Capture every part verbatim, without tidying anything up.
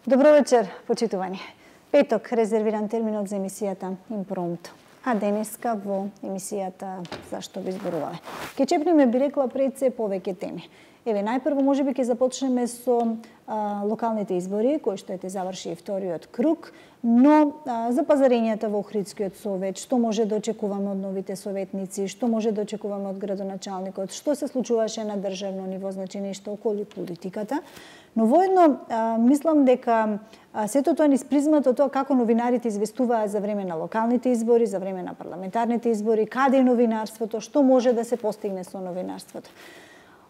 Добро вечер, почитувани. Петок резервиран терминот за емисијата Импромто. А денеска во емисијата Зашто ви зборуваме? Ке чепнеме, би рекла, пред се повеќе теми. Еве, најпрво можеби ќе започнеме со а, локалните избори, кои што ете заврши вториот круг, но а, за пазарењата во Охридскиот совет, што може да очекуваме од новите советници, што може да очекуваме од градоначалникот, што се случуваше на државно ниво, значи нешто околу политиката. Но воедно а, мислам дека а, сето тоа низ призмата тоа како новинарите известуваат за време на локалните избори, за време на парламентарните избори, каде е новинарството, што може да се постигне со новинарството.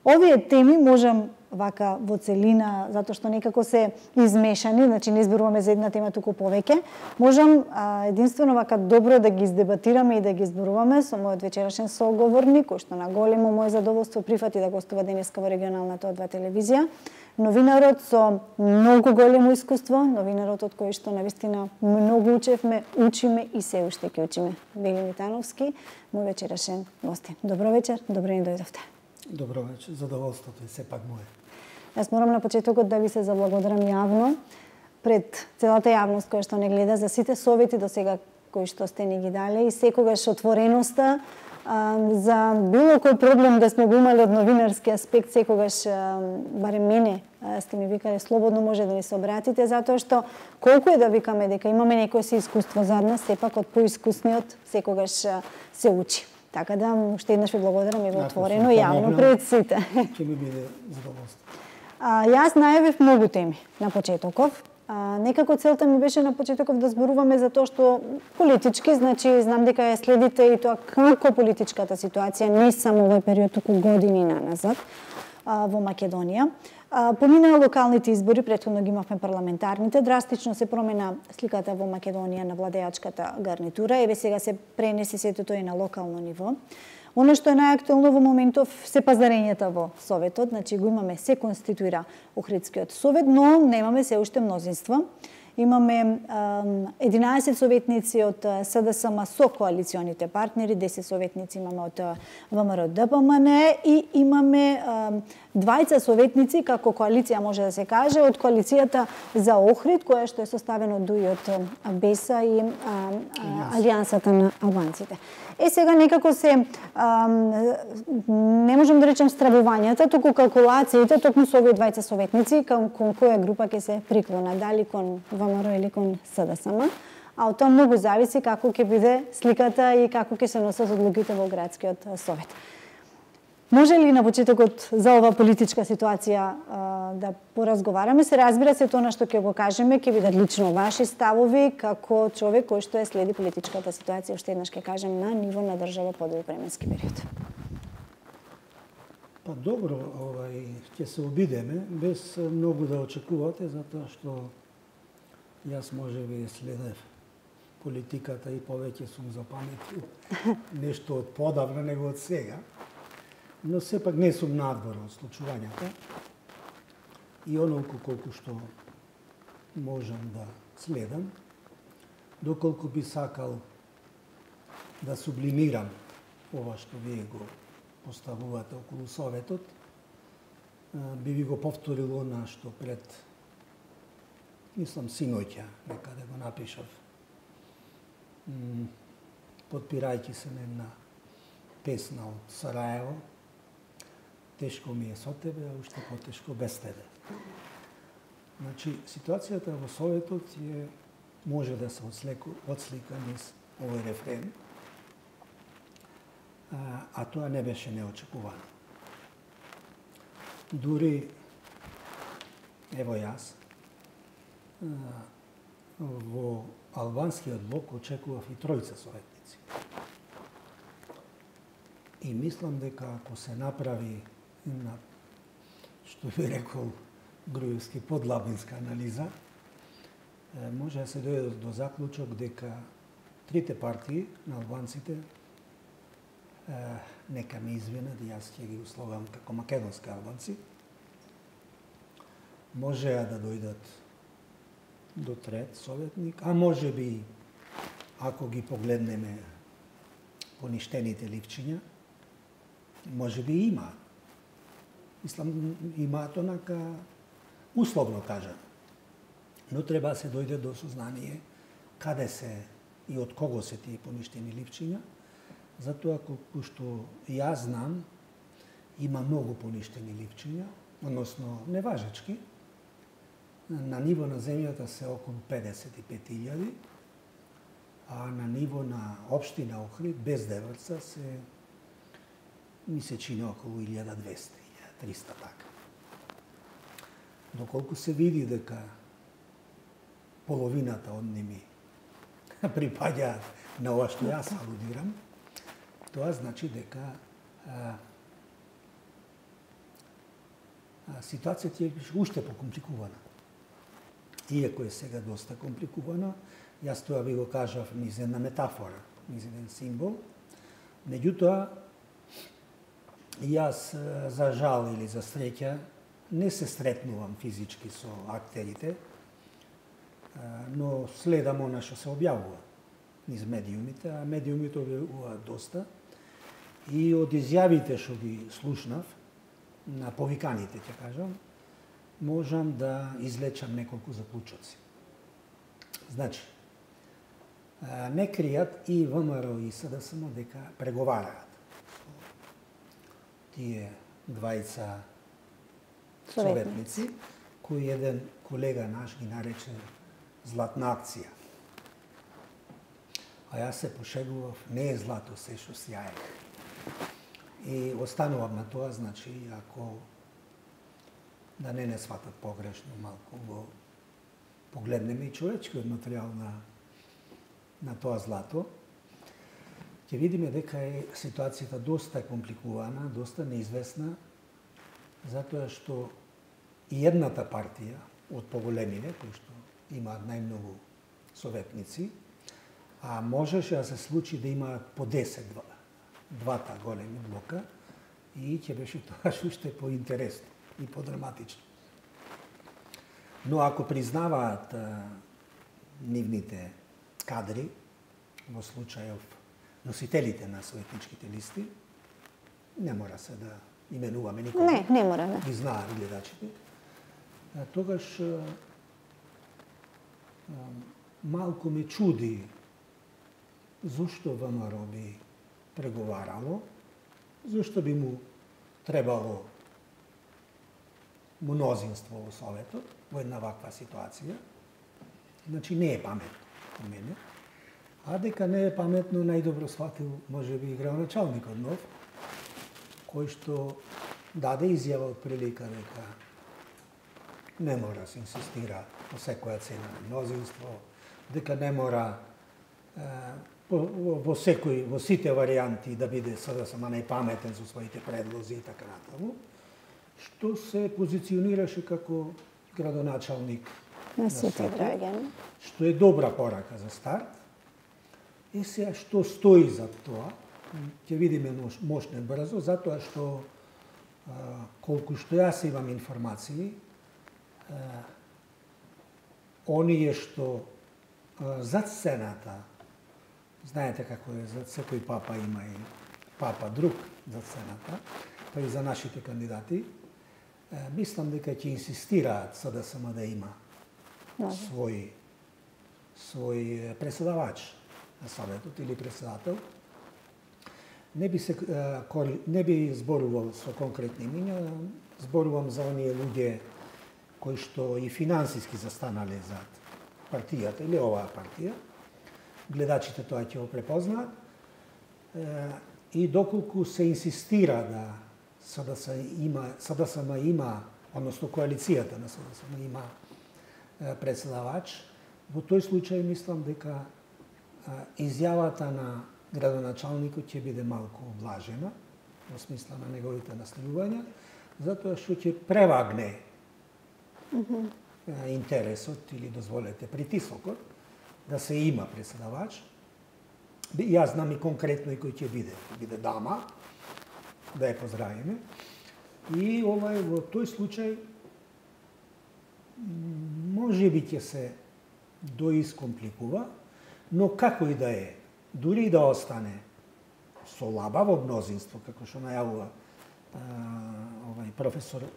Овие теми можам вака во целина, затоа што некако се измешани, значи не зборуваме за една тема, туку повеќе, можам а, единствено вака добро да ги издебатираме и да ги зборуваме со мојот вечерашен соговорник, кој што на големо моје задоволство прифати да гостува денеска во регионалната О два телевизија. Новинарот со многу големо искуство, новинарот од кој што навистина многу учевме, учиме и се уште ќе учиме. Вели Митановски, мој вечерашен гостин. Добро вечер, добро ни дојдовте. Добро вечер, задоволството е сепак мое. Јас морам на почетокот да ви се заблагодарам јавно пред целата јавност која што не гледа за сите совети до сега кои што сте ни ги дале и секогаш отвореноста а, за било кој проблем да сме го имали од новинарски аспект, секогаш а, барем мене а, сте ми викале слободно може да ни се обратите, затоа што колку е да викаме дека имаме некој си искуство зад нас, сепак од поискусниот секогаш а, се учи. Така да, уште еднаш ви благодарам и во отворено јавно пред сите. Ќе ми биде задоволство. А, јас најавив многу теми на почетоков. А, некако целта ми беше на почетоков да зборуваме за тоа што политички, значи знам дека ја следите и тоа како политичката ситуација, не само овој период, туку години наназад а, во Македонија. А, поминаа локалните избори, претходно ги имавме парламентарните, драстично се промена сликата во Македонија на владеачката гарнитура, еве сега се пренесе сето тоа и на локално ниво. Оно што е најактуелно во моментов се пазарењата во Советот, значи го имаме, се конституира Охридскиот совет, но немаме се уште мнозинство. Имаме единаесет советници од СДСМ со коалиционите партнери, десет советници имаме од ВМРО Д П М Н и имаме двајца советници како коалиција може да се каже од коалицијата за Охрид, која што е составена од дуи од БЕСА и а, а, Алијансата на албанците. Е сега некако се а, не можам да речем стравувањата, туку калкулациите токму со овие двајца советници кон, кон која група ќе се приклона, дали кон ВМРО или кон СДСМ, а од тоа многу зависи како ќе биде сликата и како ќе се носат одлуките во градскиот совет. Може ли на почетокот за ова политичка ситуација а, да поразговараме? Се разбира се тоа на што ќе го кажеме, ќе бидат лично ваши ставови како човек кој што е следи политичката ситуација, уште еднаш ќе кажем, на ниво на држава по долг временски период. Па добро, овај ќе се обидеме без многу да очекувате, затоа што јас можеби следев политиката и повеќе сум запаметил нешто од подавна него од сега. Но сепак не сум надвор од случувањата и онолку колку што можам да следам, доколку би сакал да сублимирам ова што вие го поставувате околу Советот, би ви го повторил она што пред, мислам, синоќа, некаде го напишав, подпирајќи се на една песна од Сараево, тешко ми е со тебе, а уште потешко без тебе. Значи, ситуацијата во Советот е, може да се отслика, отслика низ овој рефрен, а, а тоа не беше неочекувано. Дури, ево јас, а, во албанскиот блок очекував и тројца советници. И мислам дека ако се направи на, што би рекол Груевски, подлабинска анализа, може да се дојде до заклучок дека трите партии на албанците, нека ме извинат, јас ќе ги условам како македонски албанци, можеа да дојдат до трет советник, а може би, ако ги погледнеме поништените ливчиња, може би има. Мислам, имаат онака условно кажано. Но треба да се дојде до сознание каде се и од кого се тие поништени ливчиња, затоа колку што јас знам, има многу поништени ливчиња, односно неважечки. На ниво на земјата се околу педесет и пет илјади, а на ниво на општина Охрид, без Деврца, се ми се чини околу илјада и двесте, илјада и триста така. Доколку се види дека половината од ними припаѓаат на ова што јас алудирам, тоа значи дека а, а, ситуацијата е уште покомпликувана. Иако е сега доста компликувана, јас тоа би го кажав низ една метафора, низ еден символ. Меѓутоа, јас за жал или за среќа не се сретнувам физички со актерите, но следам она што се објавува низ медиумите, а медиумите објавуваат доста. И од изјавите што ги слушнав, на повиканите, ќе кажам, можам да излечам неколку заклучоци. Значи, не кријат и ВМРО и СДСМ дека преговараат со тие двајца советници, кој еден колега наш ги нарече златна акција. А јас се пошегував, не е злато се што сјае. И останувам на тоа, значи, ако да не не сватат погрешно, малку го погледнеме и човечкиот материјал на, на тоа злато, ќе видиме дека е ситуацијата доста компликувана, доста неизвестна, затоа што и едната партија од поголемите, кои што имаат најмногу советници, а можеше да се случи да имаат по десет, двата големи блока, и ќе беше тоа уште поинтересно и подраматично. Но ако признаваат а, нивните кадри, во случајов носителите на советничките листи, не мора се да именуваме никога. Не, не мора, да. Ги знаат гледачите. А, тогаш а, а, малку ме чуди зошто ВМРО би преговарало, зошто би му требало мнозинство во Советот во една ваква ситуација. Значи не е паметно по мене. А дека не е паметно, најдобро сватил можеби и градоначалникот нов, кој што даде изјава од прилика дека не мора се инсистира по секоја цена на мнозинство, дека не мора е, во секој, во сите варијанти да биде СДСМ најпаметен со своите предлози и така натаму, што се позиционираше како градоначалник на сите граѓани, што е добра порака за старт. И сега што стои за тоа, ќе видиме мошне брзо, затоа што а, колку што јас имам информации, а, оние што а, зад сцената, знаете како е, зад секој папа има и папа друг зад сцената, па и за нашите кандидати, а, мислам дека ќе инсистираат СДСМ да има свој свој преседавач на Советот или председател. Не би се не би зборувал со конкретни имиња, зборувам за оние луѓе кои што и финансиски застанале зад партијата или оваа партија. Гледачите тоа ќе го препознаат. И доколку се инсистира да СДСМ има, СДСМ има, односно коалицијата на СДСМ има председавач, во тој случај мислам дека изјавата на градоначалникот ќе биде малку облажена, во смисла на неговите наставувања, затоа што ќе превагне mm -hmm. интересот или, дозволете, притисокот да се има председавач. Јас знам и конкретно и кој ќе биде. Биде дама, да ја поздравиме. И овај, во тој случај може би ќе се доискомпликува, но како и да е, дури и да остане со лабаво мнозинство, како што најавува овај професор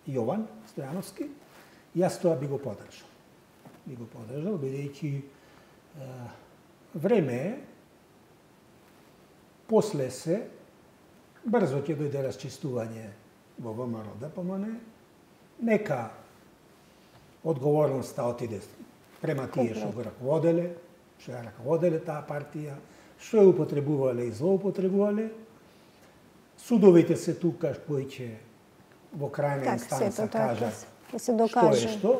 Јован Стојановски, јас тоа би го поддржал. Би го поддржал, бидејќи време е, после се, брзо ќе дојде расчистување во ВМРО-ДПМН, нека одговорноста отиде према тие што го раководеле, што ја раководеле таа партија, што ја употребувале и злоупотребувале. Судовите се тука кои ќе во крајна инстанца кажат што е што.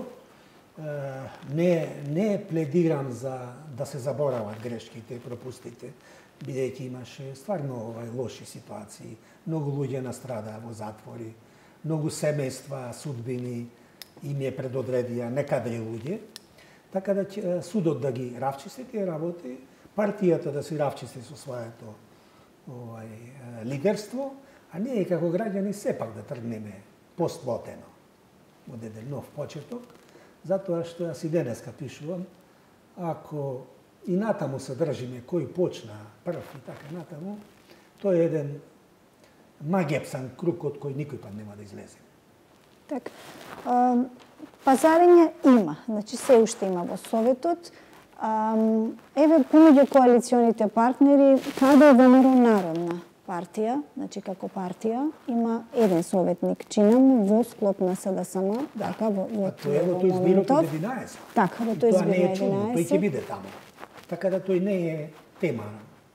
Не, не пледирам за да се заборават грешките и пропустите, бидејќи имаше стварно овај лоши ситуации. Многу луѓе настрадаа во затвори, многу семејства, судбини им е предодредија некадри луѓе. Така да судот да ги равчисти тие работи, партијата да си равчисти со своето овај лидерство, а ние како граѓани сепак да тргнеме поствотено од еден нов почеток, затоа што јас и денеска пишувам, ако и натаму се држиме кој почна прв и така натаму, тој е еден магепсан круг од кој никој пат нема да излезе. Так. Пазарење има, значи се уште има во Советот. Еве помеѓу коалиционите партнери, каде е ВМРО Народна партија, значи како партија, има еден советник, чинам, во склоп на СДСМ, така, во тој е во тој збирот од единаесет. Така, во тој збирот од единаесет. Тој ќе биде таму. Така да тој не е тема,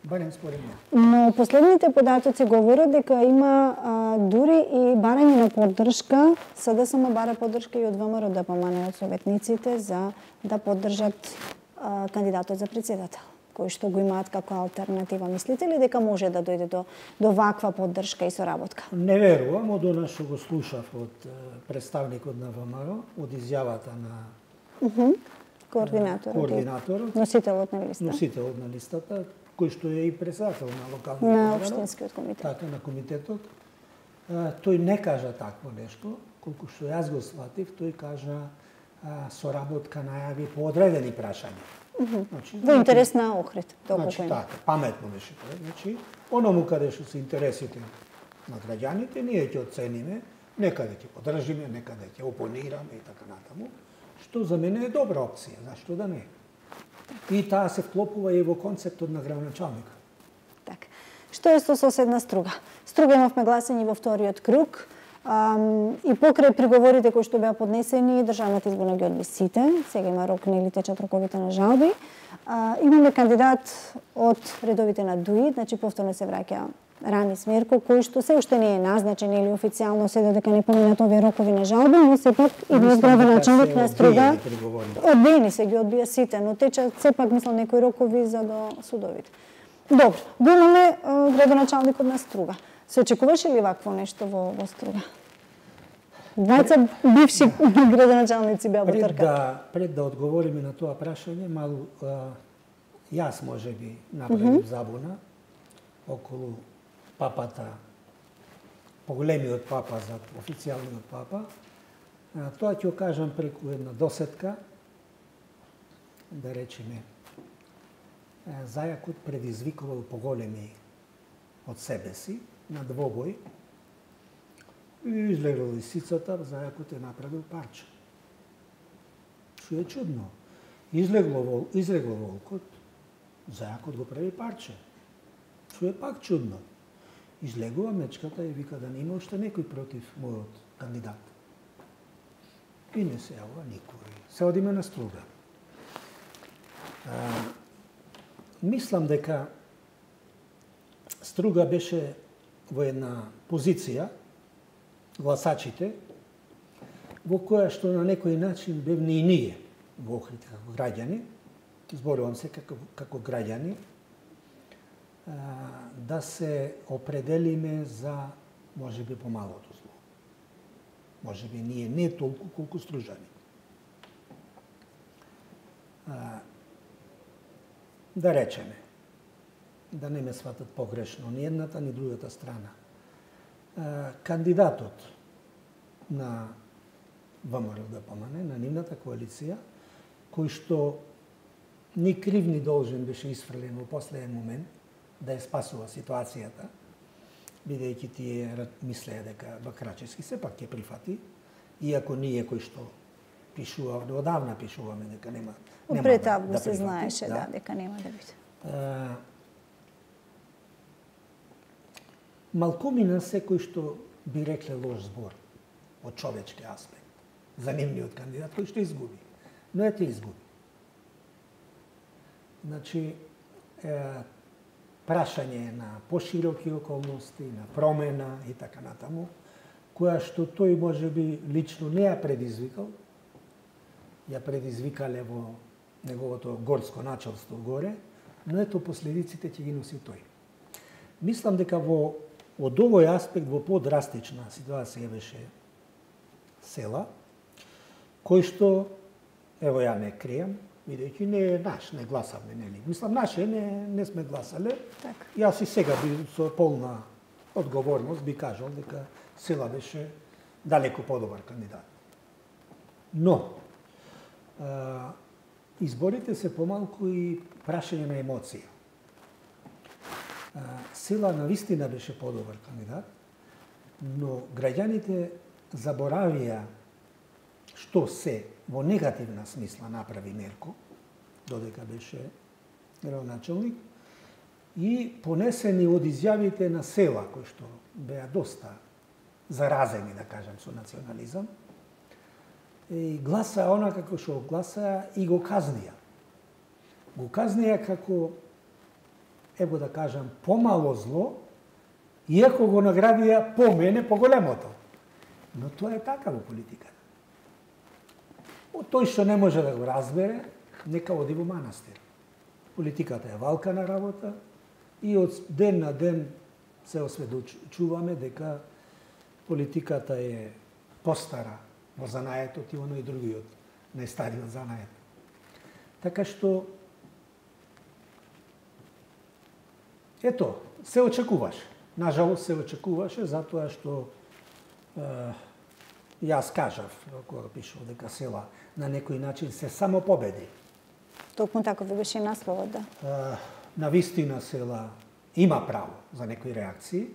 барем според мене. Но последните податоци говорат дека има а, дури и барање на поддршка, СДСМ бара поддршка и од ВМРО-ДПМН од советниците за да поддржат а, кандидатот за председател, кој што го имаат како алтернатива. Мислите ли дека може да дојде до, до ваква поддршка и соработка? Не верувам, од она што го слушав од представникот на ВМРО, од изјавата на uh -huh. координаторот, координаторот, носителот на листа. Носителот на листата, кој што е и председател на локалниот на општинскиот комитет. Така, на комитетот. Тој не кажа такво нешто, колку што јас го сватив, тој кажа соработка најави по одредени прашања. Uh -huh. Значи, во интерес на Охрид, толку значи, така, паметно беше тоа. Значи, оному каде што се интересите на граѓаните, ние ќе оцениме, некаде ќе поддржиме, некаде ќе опонираме и така натаму, што за мене е добра опција, зашто да не? И таа се вклопува и во концептот на градоначалникот. Така. Што е со соседна Струга? Струга имавме гласање во вториот круг. Um, и покрај приговорите кои што беа поднесени, државната изборна ги одби сите. Сега има рок, нели течат роковите на жалби. Uh, имаме кандидат од редовите на ДУИ, значи повторно се враќа Рани Смерко, кој што се уште не е назначен или официјално се додека не поминат овие рокови на жалби, но сепак и од градоначалник на Струга одбиени се ги одбија сите, но течат сепак мислам некои рокови за до судовите. Добро, го имаме градоначалникот на Струга. Се очекуваше ли вакво нешто во, во Струга? Двајца бивши градоначалници беа во трка. Да, пред да одговориме на тоа прашање, малку јас можеби направив uh -huh. забуна околу папата, поголемиот папа за официјалниот папа. Тоа ќе го кажам преку една досетка, да речеме, зајакот предизвикувал поголеми од себе си на двобој и излегла лисицата, зајакот е направил парче. Што е чудно. Излегло, вол, излегло волкот, зајакот го прави парче. Што е пак чудно. Излегува мечката и вика да не има уште некој против мојот кандидат. И не се јавува никој. Се одиме на Струга. А, мислам дека Струга беше во една позиција, гласачите, во која што на некој начин бевме и ние во Охрид како граѓани, зборувам се како, како граѓани, да се определиме за можеби помалото зло. Можеби ние не толку колку стружани. Да речеме, да не ме сватат погрешно ни едната ни другата страна. Кандидатот на ВМРО-ДПМН, на нивната коалиција, кој што ни крив ни должен беше исфрлен во последен момент, да ја спасува ситуацијата, бидејќи тие мислеа дека Бакрачевски сепак ќе прифати, иако ние кои што пишува, одавна пишуваме дека нема нема пред да, август да се прифати, знаеше да. да, дека нема да биде. А, малкумина секој што би рекле лош збор од човечки аспект за нивниот кандидат кој што изгуби. Но ете изгуби. Значи, е, прашање на пошироки околности, на промена и така натаму, која што тој може би лично не ја предизвикал, ја предизвикале во неговото горско началство горе, но ето последиците ќе ги носи тој. Мислам дека во од овој аспект во подрастична ситуација беше Села, кој што, ево ја не кријам, бидејќи не е наш, не гласавме, нели? Мислам, наше не, не сме гласале. Так. Јас и сега би со полна одговорност би кажал дека Села беше далеко подобар кандидат. Но, а, изборите се помалку и прашање на емоција. А, Села навистина беше подобар кандидат, но граѓаните заборавија што се во негативна смисла направи Мерко, додека беше градоначалник, и понесени од изјавите на Села, кои што беа доста заразени, да кажам, со национализам, и гласа она како што гласа и го казнија. Го казнија како, ево да кажам, помало зло, иако го наградија по мене поголемото. Но тоа е така во политиката. Тој што не може да го разбере, нека оди во манастир. Политиката е валкана работа и од ден на ден се осведочуваме дека политиката е постара во занаетот и оно и другиот најстариот занает. Така што ето, се очекуваше. Нажалост се очекуваше затоа што е, јас кажав кога пишав дека Села на некој начин се само победи. Токму така ви беше насловот, да. Е, на вистина Села има право за некои реакции.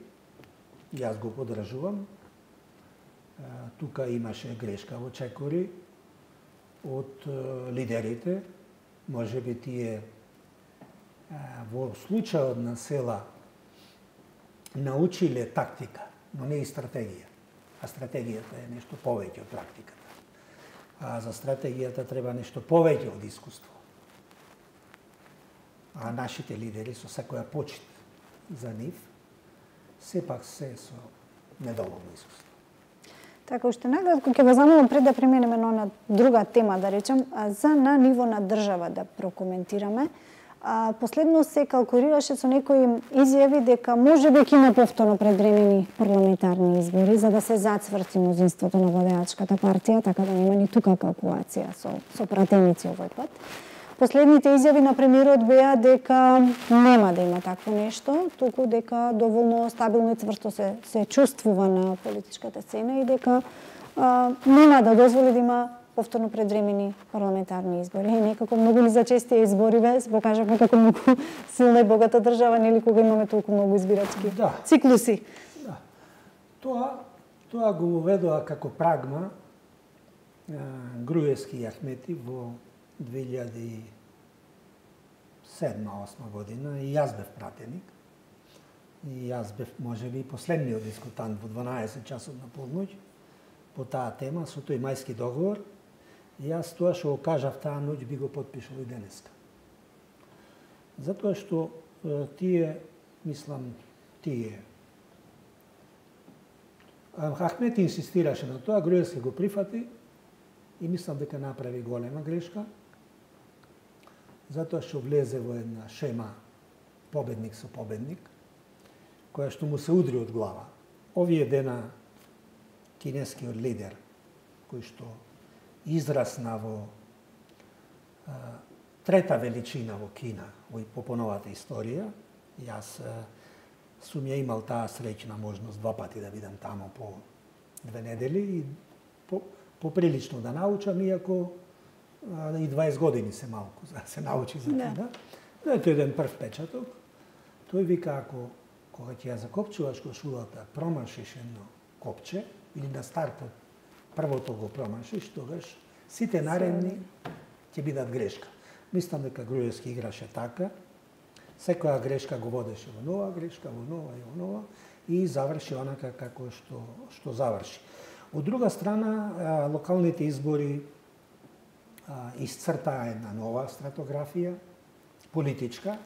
Јас го поддржувам. Е, тука имаше грешка во чекори од е, лидерите. Може би тие е, во случајот на Села научиле тактика, но не и стратегија. А стратегијата е нешто повеќе од практиката. А за стратегијата треба нешто повеќе од искуство. А нашите лидери со секоја почит за нив, сепак се со недоволно искуство. Така, уште наградко ќе ве замолам пред да преминеме на друга тема, да речем, за на ниво на држава да прокоментираме. А, последно се калкулираше со некои изјави дека може би ќе има повторно предвремени парламентарни избори за да се зацврти мнозинството на владеачката партија, така да нема ни тука калкулација со, со пратеници овој пат. Последните изјави на премиерот беа дека нема да има такво нешто, туку дека доволно стабилно и цврсто се, се чувствува на политичката сцена и дека а, нема да дозволи да има повторно предвремени парламентарни избори. И некако многу ли зачестија избориве, се покажавме како многу силна и богата држава, нели кога имаме толку многу избирачки да. циклуси. Да. Тоа, тоа го уведоа како прагма Груевски и Ахмети во две илјади и седма осма година и јас бев пратеник. И јас бев можеби последниот дискутант во дванаесет часот на полноќ по таа тема со тој мајски договор. И јас тоа што го кажав таа ноќ би го потпишал и денеска. Затоа што е, тие, мислам, тие Ахмет инсистираше на тоа, Груевски го прифати и мислам дека направи голема грешка, затоа што влезе во една шема победник со победник, која што му се удри од глава. Овие дена кинескиот лидер, кој што израсна во а, трета величина во Кина во по поновата историја, јас а, сум ја имал таа среќна можност два пати да бидам тамо по две недели и по, поприлично да научам, иако а, и дваесет години се малку за да се научи за да. Кина. Но ето еден прв печаток. Тој вика, ако кога ќе ја закопчуваш кошулата, промашиш едно копче, или на стартот првото го промашиш, тогаш сите наредни ќе бидат грешка. Мислам дека Груевски играше така, секоја грешка го водеше во нова грешка, во нова и во нова, и заврши онака како што, што заврши. Од друга страна, локалните избори исцртаа една нова стратографија, политичка,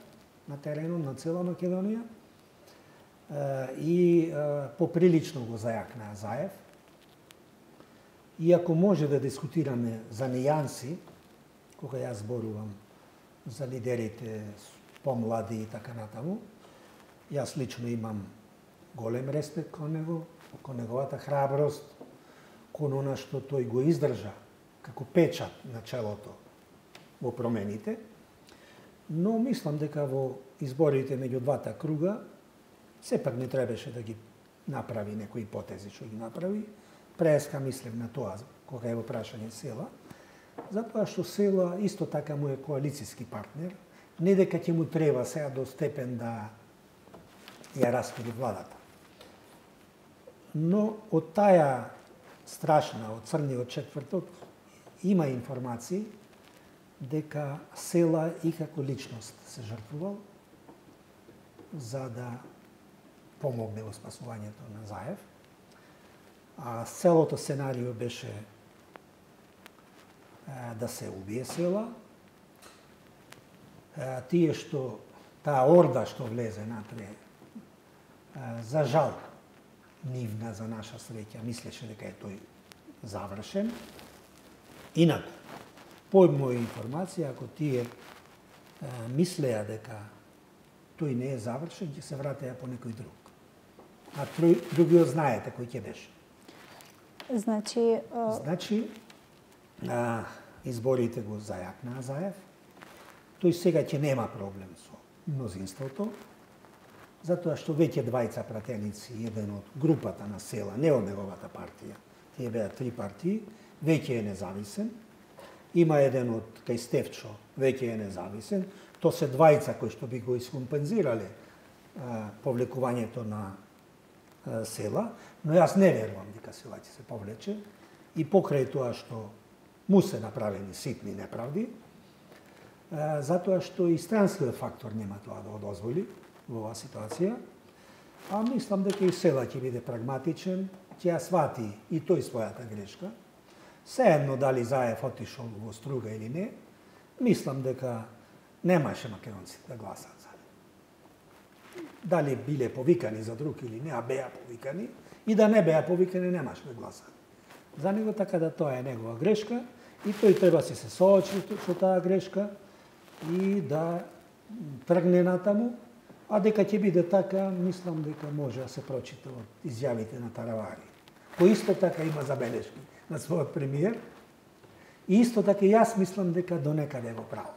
на теренот на цела Македонија, и поприлично го зајакнаа Заев. Иако може да дискутираме за нијанси, кога јас зборувам за лидерите помлади и така натаму, јас лично имам голем респект кон него, кон неговата храброст, кон она што тој го издржа како печат на челото во промените, но мислам дека во изборите меѓу двата круга сепак не требаше да ги направи некои потези што ги направи. Преска мислев на тоа кога е во прашање Села, затоа што Села исто така му е коалициски партнер, не дека ќе му треба сега до степен да ја раскри владата. Но од таа страшна, од црниот четврток, има информации дека Села и како личност се жртвувал за да помогне во спасувањето на Заев. А целото сценарио беше е, да се убие Села. Е, тие што, таа орда што влезе натре, е, за жал, нивна за наша среќа, мислеше дека е тој завршен. Инаку, по моја информација, ако тие е, мислеа дека тој не е завршен, ќе се вратеа по некој друг. А другиот знаете кој ќе беше. Значи, а... значи а, изборите го зајакнаа Заев. Тој сега ќе нема проблем со мнозинството, затоа што веќе двајца пратеници, еден од групата на Села, не од неговата партија, тие беа три партии, веќе е независен. Има еден од кај Стефчо, веќе е независен. То се двајца кои што би го искомпензирале а, повлекувањето на а, Села, но јас не верувам дека Села ќе се повлече и покрај тоа што му се направени ситни неправди, а, затоа што и странскиот фактор нема тоа да го дозволи во оваа ситуација, а мислам дека и Села ќе биде прагматичен, ќе ја свати и тој својата грешка. Сеедно дали Заев отишол во струга или не, мислам дека немаше македонците да гласат за него. Дали биле повикани за друг или не, а беа повикани, и да не беа повикани, немаше да гласат за него, така да тоа е негова грешка и тој треба си се соочи со таа грешка и да тргне натаму, а дека ќе биде така, мислам дека може да се прочита од изјавите на Таравари. Кој исто така има забелешки на својот премиер, и исто така јас мислам дека до некаде го право.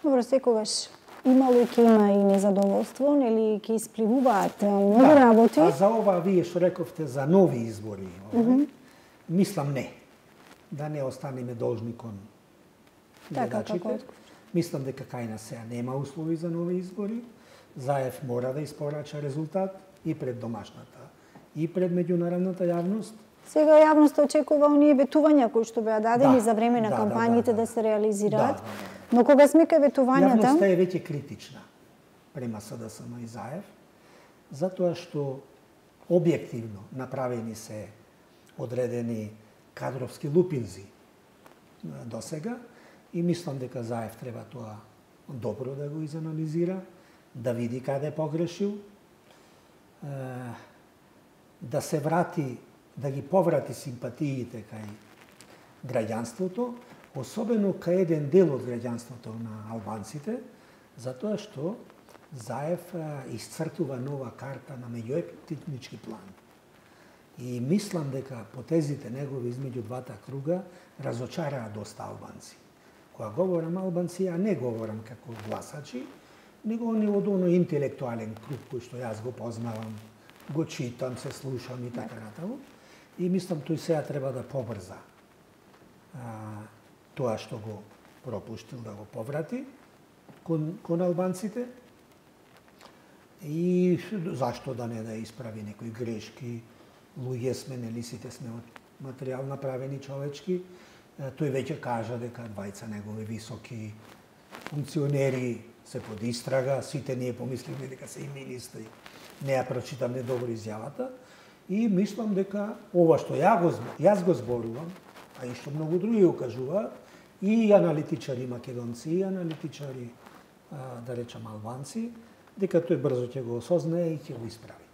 Добро, секогаш имало и ќе има и незадоволство, нели ќе испливуваат многу да, работи. А за ова вие што рековте за нови избори, mm -hmm. мислам не. Да не останеме должни кон гледачите. Мислам дека кај нас сега нема услови за нови избори. Заев мора да испорача резултат и пред домашната, и пред меѓународната јавност. Сега јавноста очекува оние ветувања кои што беа дадени да, за време на да, кампањите да, да, да, да се реализираат. Да, да, да. Но кога сме кај ветувањата... Јавноста е веќе критична према СДСМ и Заев, затоа што објективно направени се одредени кадровски лупинзи до сега и мислам дека Заев треба тоа добро да го изанализира, да види каде погрешил, да се врати, да ги поврати симпатиите кај граѓанството, особено кај еден дел од граѓанството на албанците, затоа што Заев исцртува нова карта на меѓуетнички план. И мислам дека потезите негови измеѓу двата круга разочараа доста албанци. Кога говорам албанци, ја не говорам како гласачи, него не од оној интелектуален круг кој што јас го познавам, го читам, се слушам и така натаму. И мислам тој сега треба да побрза а, тоа што го пропуштил да го поврати кон, кон албанците. И зашто да не да исправи некои грешки, луѓе сме, нели сите сме од материјал направени човечки. Тој веќе кажа дека двајца негови високи функционери се под истрага, сите ние помисливме дека се и министри. Не ја прочитам недобро изјавата и мислам дека ова што ја го, јас го зборувам, а и што многу други го кажуваат, и аналитичари македонци, и аналитичари, да речам, албанци, дека тој брзо ќе го осознае и ќе го исправи.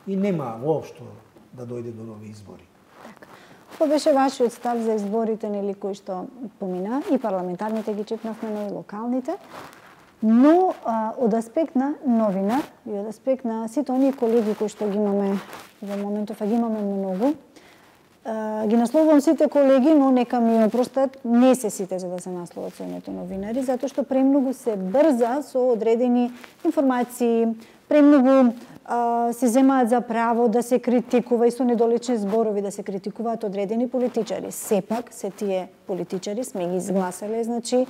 И нема воопшто да дојде до нови избори. Така. Кој беше вашиот став за изборите, нели, кои што помина, и парламентарните ги чепнавме, но и локалните, но а, од аспект на новинар и од аспект на сите оние колеги кои што ги имаме во моментов, а ги имаме многу, а, ги насловувам сите колеги, но нека ми опростат, не се сите за да се насловат со името новинари, затоа што премногу се брза со одредени информации, премногу а, се земаат за право да се критикува и со недолични зборови да се критикуваат одредени политичари. Сепак, се тие политичари сме ги изгласале, значи,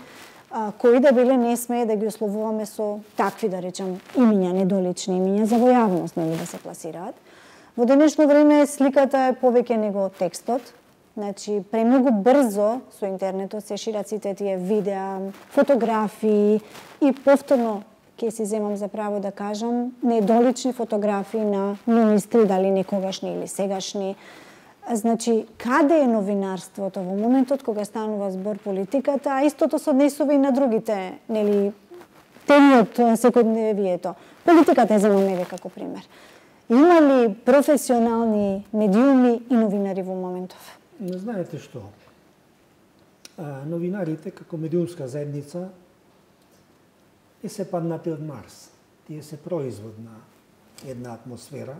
а, кои да биле не смее да ги условуваме со такви, да речам, имиња, недолични имиња за во јавност, нели, да се пласираат. Во денешно време сликата е повеќе него текстот, значи премногу брзо со интернетот се шират сите тие видеа, фотографии и повторно ќе си земам за право да кажам недолични фотографии на министри, дали некогашни или сегашни. Значи, каде е новинарството во моментот кога станува збор политиката, а истото се однесува и на другите, нели, теми од секојдневието. Политиката е земаме еве како пример. Има ли професионални медиуми и новинари во моментов? Не знаете што. А, новинарите како медиумска заедница не се паднати од Марс. Тие се производ на една атмосфера,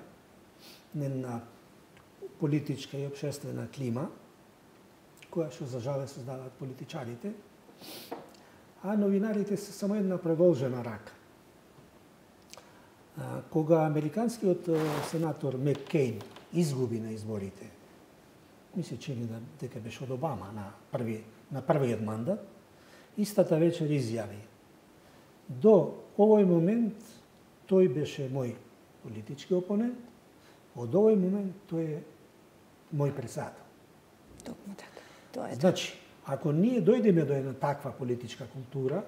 на една политичка и општествена клима, која што за жале создаваат политичарите, а новинарите се само една продолжена рака. Кога американскиот сенатор Маккейн изгуби на изборите, ми се чини да дека беше од Обама на први на првиот мандат, истата вечер изјави: до овој момент тој беше мој политички опонент, од овој момент тој е мој председател. Токму така. Тоа е. Значи, ако ние дојдеме до една таква политичка култура,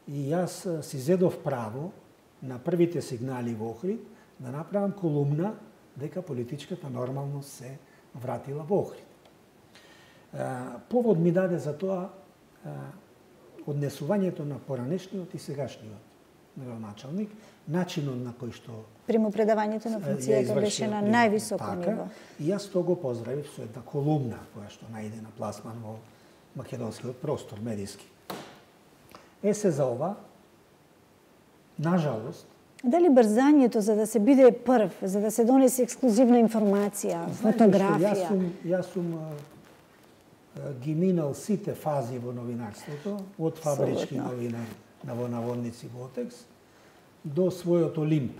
и јас си зедов право на првите сигнали во Охрид да направам колумна дека политичката нормалност се вратила во Охрид. Повод ми даде за тоа однесувањето на поранешниот и сегашниот градоначалник, начинот на кој што примопредавањето на функцијата беше на највисоко така, ниво. И јас тоа го поздравив со една колумна која што најде на пласман во македонскиот простор медиски. Е се за ова, нажалост, дали брзањето за да се биде прв, за да се донесе ексклузивна информација, фотографија? Јас сум, јас сум ги минал сите фази во новинарството, од фабрички новинари на во наводници Ботекс до својот Олимп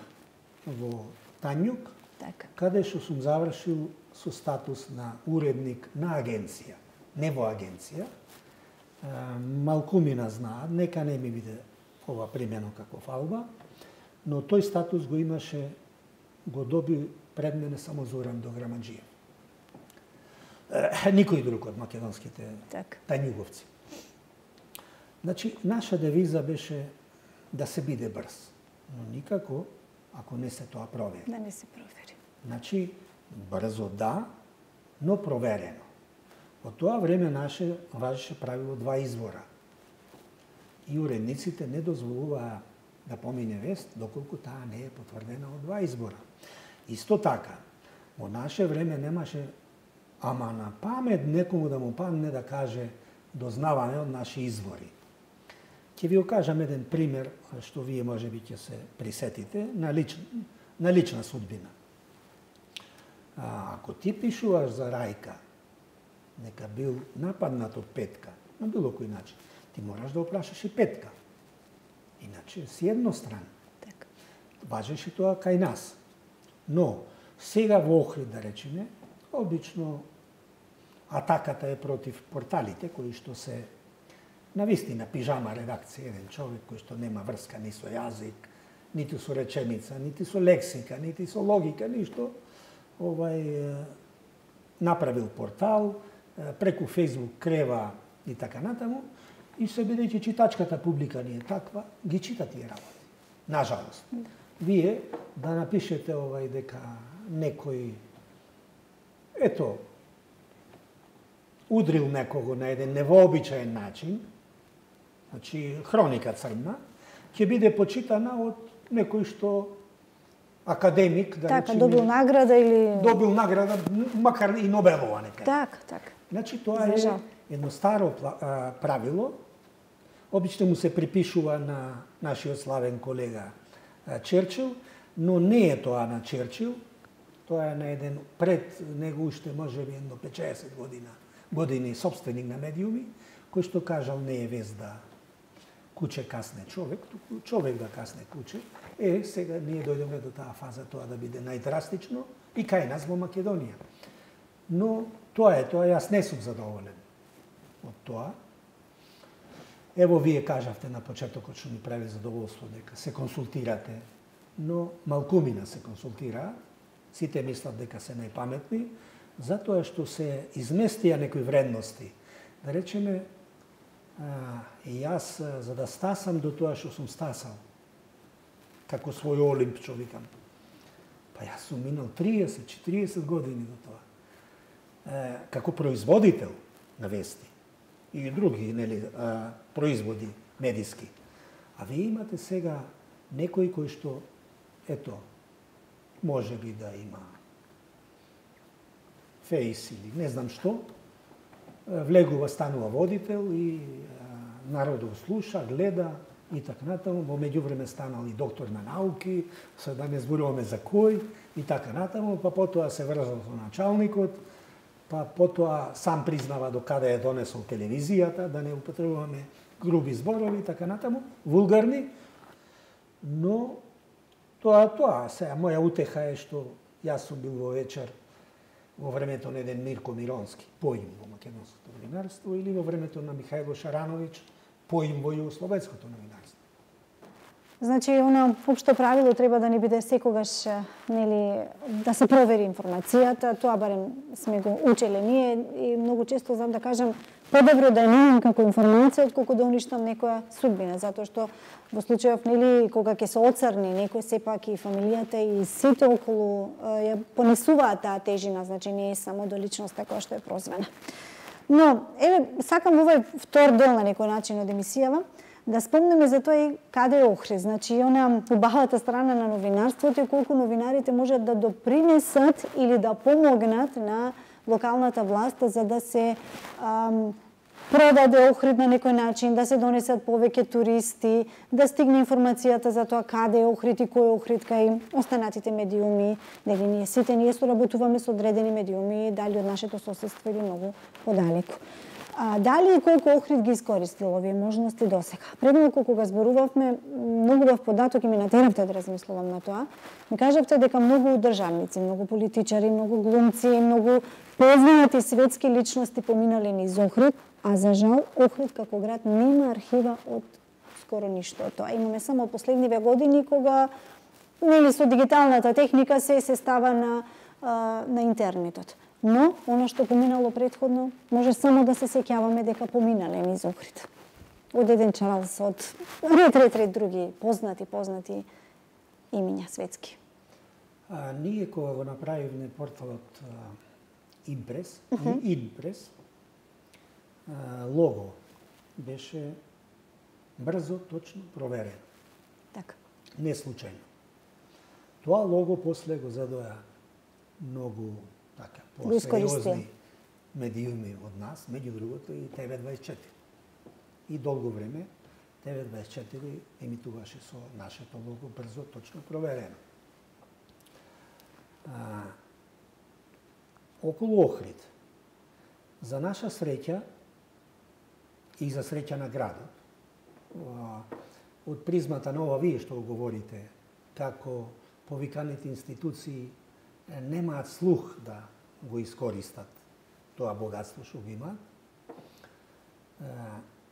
во Тањук, така, каде што сум завршил со статус на уредник на агенција, не во агенција. Малкумина знаат, нека не ми биде ова примено како фалба, но тој статус го имаше, го доби пред мене само Зоран Дограмаджиев. Никој друг од македонските так. тањуговци. Значи, наша девиза беше да се биде брз, но никако ако не се тоа провери. Да не се провери. Значи, брзо да, но проверено. Во тоа време наше важеше правило два извора. И уредниците не дозволуваа да помине вест доколку таа не е потврдена од два избора. Исто така, во наше време немаше ама на памет некому да му падне да каже дознаване од наши извори. Ќе ви окажам еден пример што вие можеби ќе се присетите на лична, на лична судбина. А, ако ти пишуваш за Рајка, нека бил нападнат од Петка, на било кој начин, ти мораш да опрашаш и Петка. Иначе си едностран. Так. Важеше тоа кај нас. Но сега во Охрид, да речеме, обично атаката е против порталите кои што се навистина пижама редакција, еден човек кој што нема врска ни со јазик, ниту со реченица, нити со лексика, нити со логика, ништо. Овај направил портал, преку Facebook крева и така натаму, и се бидејќи читачката публика не е таква, ги чита тие работи. Нажалост. Вие да напишете овај дека некој ето удрил некого на еден невообичаен начин, значи хроника црна, ќе биде почитана од некој што академик, да така, речеме, добил награда или добил награда, макар и Нобелова нека. така, така. Значи тоа е едно старо правило. Обично му се припишува на нашиот славен колега Черчил, но не е тоа на Черчил. Тоа е на еден пред него уште можеби едно петчесет година години собственик на медиуми, кој што кажал не е вест да куче касне човек, туку човек да касне куче. Е, сега ние дојдеме до таа фаза тоа да биде најдрастично и кај нас во Македонија. Но тоа е, тоа јас не сум задоволен од тоа. Ево вие кажавте на почетокот што ми прави задоволство дека се консултирате, но малкумина се консултира, сите мислат дека се најпаметни, затоа што се изместија некои вредности. Да речеме, а, и јас за да стасам до тоа што сум стасал, како свој олимп, што викам, па јас сум минал триесет четириесет години до тоа. Е, како производител на вести и други нели, а, производи медиски. А вие имате сега некој кој што, ето, може би да има фейс или не знам што, влегува, станува водител и а, народот слуша, гледа и така натаму. Во меѓувреме станал и доктор на науки, се да не зборуваме за кој и така натаму, па потоа се врзал со началникот, па потоа сам признава до каде е донесол телевизијата, да не употребуваме груби зборови и така натаму, вулгарни, но тоа тоа, сега моја утеха е што јас сум бил во вечер во времето на еден Мирко Миронски, поим во македонското новинарство, или во времето на Михајло Шарановиќ, поим во југословенското новинарство. Значи, она општо правило треба да ни биде секогаш, нели, да се провери информацијата, тоа барем сме го учеле ние и многу често знам да кажам подобро да немам како информација отколку да уништам некоја судбина, затоа што во случајов, нели, кога ќе се оцрни некој, сепак и фамилијата и сите околу ја понесуваат таа тежина, значи не е само до личноста која што е прозвана. Но, еве, сакам овој втор дел на некој начин од емисијава да спомнеме за тоа и каде е Охрид, значи и она убавата страна на новинарството и колку новинарите можат да допринесат или да помогнат на локалната власт за да се ам, продаде Охрид на некој начин, да се донесат повеќе туристи, да стигне информацијата за тоа каде е Охрид и кој е Охрид кај останатите медиуми, дали ние сите ние соработуваме со одредени медиуми, дали од нашето соседство или многу подалеку. А, дали и колку Охрид ги искористил овие можности досега? Пред малку кога зборувавме, многу бав податок и ми натеравте да размислувам на тоа. Ми кажавте дека многу државници, многу политичари, многу глумци, многу познати светски личности поминале низ Охрид, а за жал Охрид како град нема архива од скоро ништо од тоа. Имаме само последниве години кога нели со дигиталната техника се се става на а, на интернетот. Но, оно што поминало претходно, може само да се сеќаваме дека поминале низ Охрид. Од еден Чарлс, од ред, ред, ред други познати, познати имиња светски. А, ние кога го направивме порталот Импрес, uh -huh. Импрес, а, лого беше брзо, точно проверено. Така. Не случајно. Тоа лого после го задоја многу така, по-сериозни медиуми од нас, меѓу другото и Т В дваесет и четири. И долго време Т В дваесет и четири емитуваше со нашето лого брзо, точно проверено. А, околу Охрид, за наша среќа и за среќа на градот, од призмата на ова вие што говорите, како повиканите институции немаат слух да го искористат тоа богатство што го имаат.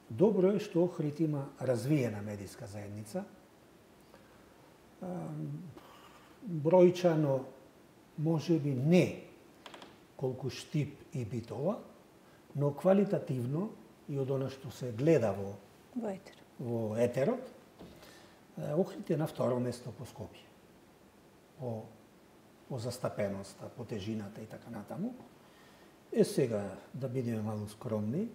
Добро е што Охрид има развиена медиска заедница. бројчано може би не колку Штип и Битола, но квалитативно и од она што се гледа во во етер. Во етерот, Охрид е на второ место по Скопје. По, по застапеноста, по тежината и така натаму. Е сега, да бидеме малку скромни,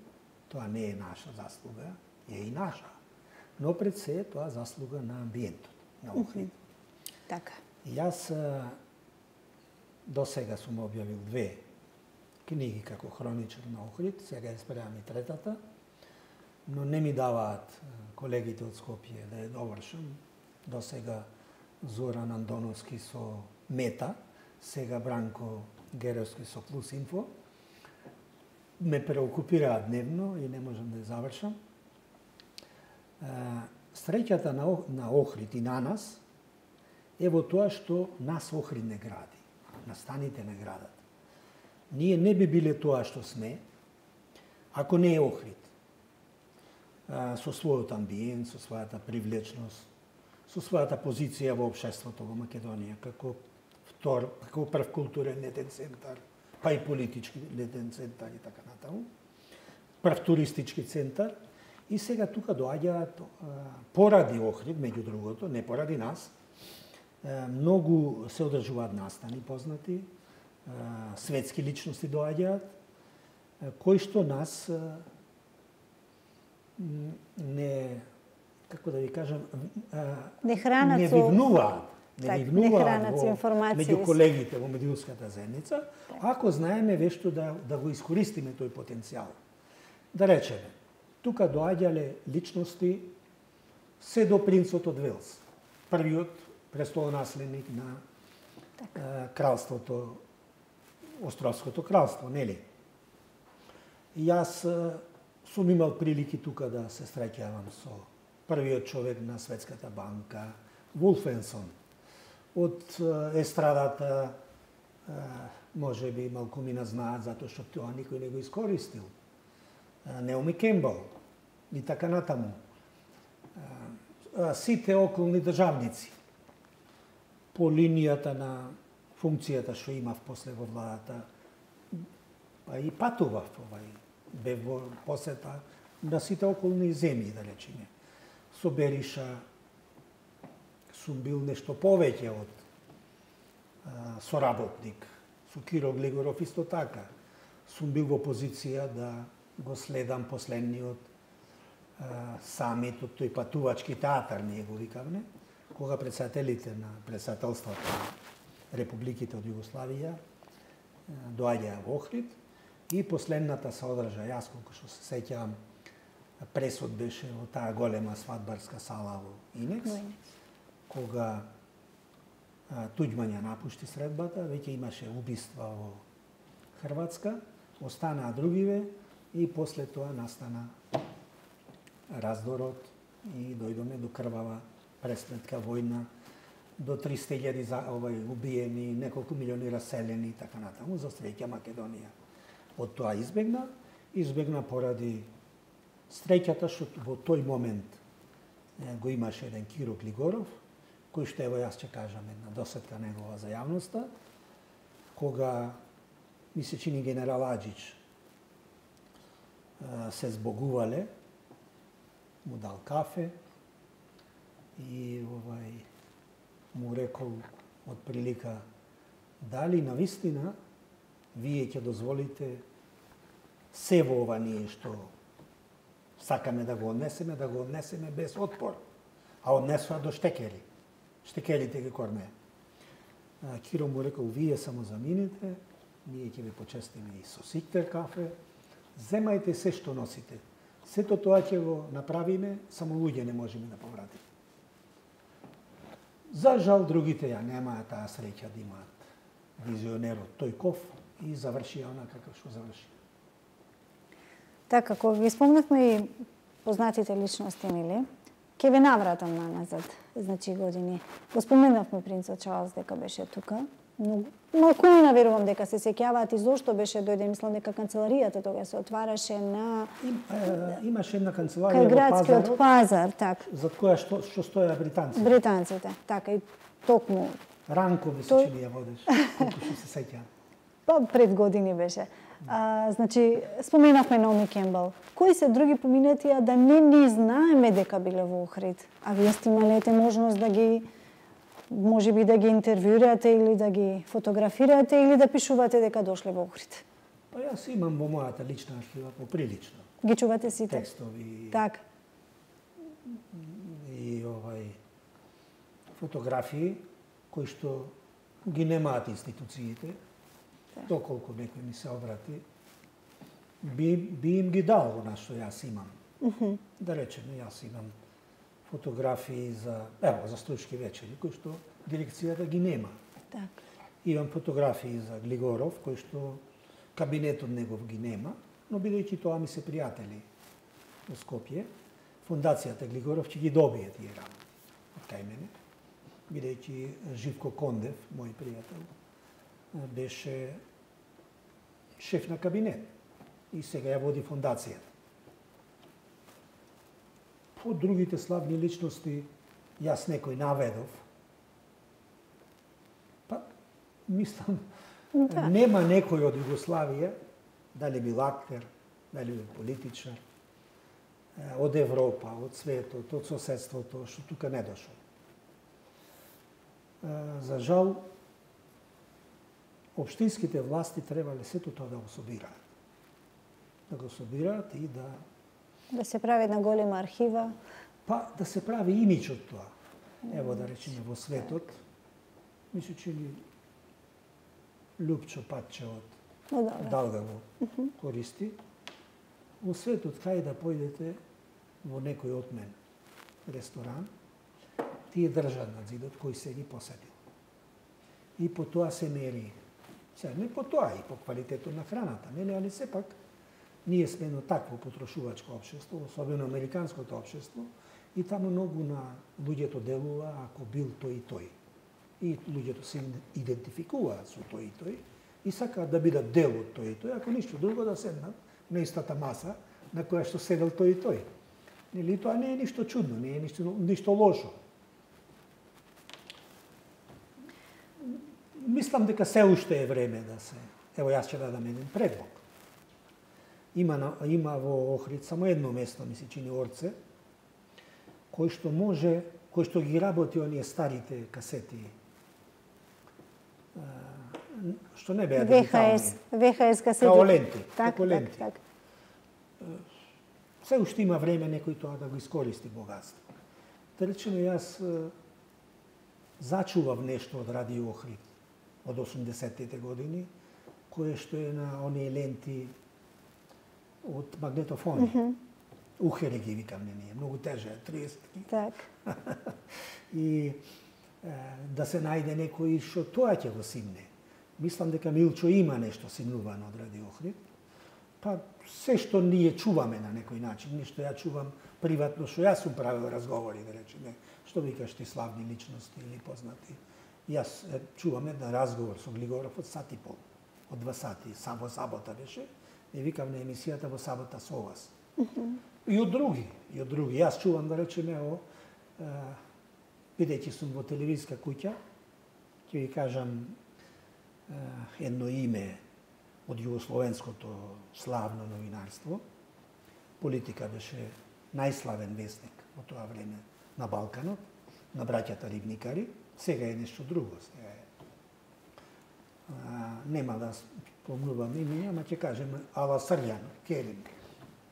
тоа не е наша заслуга, е и наша. Но пред се е тоа заслуга на амбиентот, на Охрид. Mm -hmm. Така. И јас до сега сум објавил две книги како хроничар на Охрид, сега ја спремам и третата, но не ми даваат колегите од Скопје да ја довршам. До сега Зоран Андоновски со Мета, сега Бранко Геровски со Плюс Инфо. Ме преокупираат дневно и не можам да ја завршам. Среќата на, на Охрид и на нас е во тоа што нас Охрид не гради, настаните не градат. Ние не би биле тоа што сме, ако не е Охрид. Со својот амбиент, со својата привлечност, со својата позиција во општеството во Македонија, како втор, како прв културен летен центар, па и политички летен центар и така натаму, прв туристички центар. И сега тука доаѓаат поради Охрид, меѓу другото, не поради нас, многу се одржуваат настани познати, светски личности доаѓаат, кои што нас не, како да ви кажам, не хранат не вивнуваат, не так, вивнуваат во, меѓу колегите во медиумската заедница, так. Ако знаеме вешто да, да го искористиме тој потенцијал. Да речеме, тука доаѓале личности се до принцот од Велс, првиот престолонаследник на так. кралството, Островското кралство, нели? И јас сум имал прилики тука да се среќавам со првиот човек на Светската банка, Вулфенсон. Од естрадата, може би малку ми знаат, затоа што тоа никој не го искористил. Неоми Кембал и така натаму. Сите околни државници по линијата на функцијата што имав после во владата, па и патував, овај, бев во посета на сите околни земји, да речеме. Со Бериша сум бил нешто повеќе од а, соработник, со Киро Глигоров исто така. Сум бил во позиција да го следам последниот а, самит од тој патувачки театар, ние го викавме, кога председателите на председателството на републиките од Југославија доаѓаа во Охрид и последната се одржа, јас колку што се сеќавам, пресод беше во таа голема свадбарска сала во Инекс, кога Туѓман ја напушти средбата, веќе имаше убиства во Хрватска, останаа другиве и после тоа настана раздорот и дојдоме до крвава преследка војна, до триста илјади овај убиени, неколку милиони раселени и така натаму. За среќа Македонија од тоа избегна, избегна поради среќата што во тој момент го имаше еден Киро Глигоров, кој што ево јас ќе кажам една досетка негова за јавноста, кога ми се чини генерал Аџич се збогувале, му дал кафе и овај му рекол од прилика дали навистина вие ќе дозволите се во ова ние што сакаме да го однесеме, да го однесеме без отпор, а однесоа до штекери. Штекерите ги корнеа. Киро му рекол, вие само заминете, ние ќе ви почестиме и со сиктер кафе, земајте се што носите. Сето тоа ќе го направиме, само луѓе не можеме да повратиме. За жал, другите ја немаат таа среќа да имаат визионерот Тојков и заврши она како што заврши. Така, кога ги спомнавме и познатите личности, нели? Ке ви навратам на назад, значи години. Го споменавме принцот Чарлс дека беше тука. Многу. Малкуина верувам дека се сеќаваат и зошто беше дојде, мислам дека канцеларијата тога се отвараше на Им, е, имаше една канцеларија кај во градскиот пазарот, пазар, така. за која што што стоја британците. Британците, така и токму. Ранко ми се Тој- чини ја водиш, колку што се сеќавам. Па пред години беше. А, значи, споменавме Наоми Кембел. Кои се други поминатија да не ни знаеме дека биле во Охрид? А вие сте ималете можност да ги, може би да ги интервјуирате или да ги фотографирате или да пишувате дека дошле во Охрид? Па јас имам во мојата лична архива поприлично Ги чувате сите? текстови Така. и овај фотографии кои што ги немаат институциите, доколку некој ми се обрати, би, би им ги дал она што јас имам. Мгм. Да речеме, јас имам фотографии за, ево, за Стручки вечери, кои што дирекцијата ги нема. Така. Имам фотографии за Глигоров, кои што кабинетот негов ги нема, но бидејќи тоа ми се пријатели во Скопје, фондацијата Глигоров ќе ги добие тие работи од кај мене, бидејќи Живко Кондев, мој пријател, беше шеф на кабинет и сега ја води фондацијата. По другите славни личности, јас некој наведов, па, мислам, Да. нема некој од Југославија, дали бил актер, дали бил политичар, од Европа, од светот, од соседството, што тука не дошол. За жал, општинските власти требале сето тоа да го собираат. Да го собираат и да Да се прави една голема архива. па да се прави имидж од тоа. Ево да речеме во светот, ми се чини Лупчо Патче од Но добро. Далгаво користи. Во светот кај да појдете во некој отмен ресторан, тие држат на зидот кој се ги посадил. И по тоа се мери. Сега, не по тоа, и по квалитетот на храната, нели, али сепак ние сме едно такво потрошувачко општество, особено американското општество, и таму многу на луѓето делува ако бил тој и тој. И луѓето се идентификуваат со тој и тој и сакаат да бидат дел од тој и тој, ако ништо друго да седнат на истата маса на која што седел тој и тој. Нели, тоа не е ништо чудно, не е ништо, ништо лошо. Мислам дека се уште е време да се... Ево, јас ќе дадам еден предлог. Има, на, има во Охрид само едно место, ми се чини Орце, кој што може, кој што ги работи оние старите касети, што не беа ВХС, дигитални. ВХС касети. Као ленти, Так, како ленти. так, так. Се уште има време некој тоа да го искористи богатство. Да речеме, јас е, зачував нешто од Радио Охрид од осумдесеттите години, кое што е на оние ленти од магнетофони. Mm -hmm. Ухери ги викаме ние, многу теже, триесет. Так. И е, да се најде некој што тоа ќе го симне. Мислам дека Милчо има нешто симнувано од Радио Охрид. Па се што ние чуваме на некој начин, нешто ја чувам приватно, што јас сум правил разговори, да речеме, што викаш ти славни личности или познати. Јас е, чувам еден разговор со Глигоров од сат и пол, од два сати, сам во сабота беше, и викам на емисијата во сабота со вас. Mm -hmm. И од други, и од други. Јас чувам, да речеме, о, е, бидејќи сум во телевизиска куќа, ќе ви кажам е, едно име од југословенското славно новинарство. Политика беше најславен вестник во тоа време на Балканот, на браќата Ривникари. Сега е нешто друго. Сега е. А, нема да спомнувам име, ама ќе кажем Ала Срљан, Керим,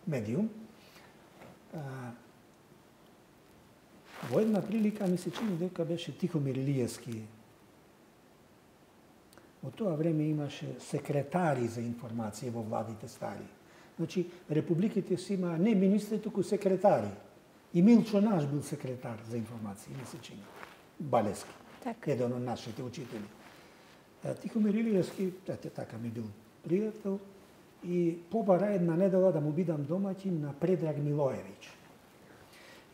медиум. А, во една прилика ми се чини дека беше Тихомир Илиевски. Во тоа време имаше секретари за информација во владите стари. Значи, републиките си има не министри, туку секретари. И Милчо наш бил секретар за информација, ми се чини. Балески, Так. еден од нашите учители. Тихомир Илиевски, ете така ми бил пријател, и побара една недела да му бидам домаќин на Предраг Милоевиќ.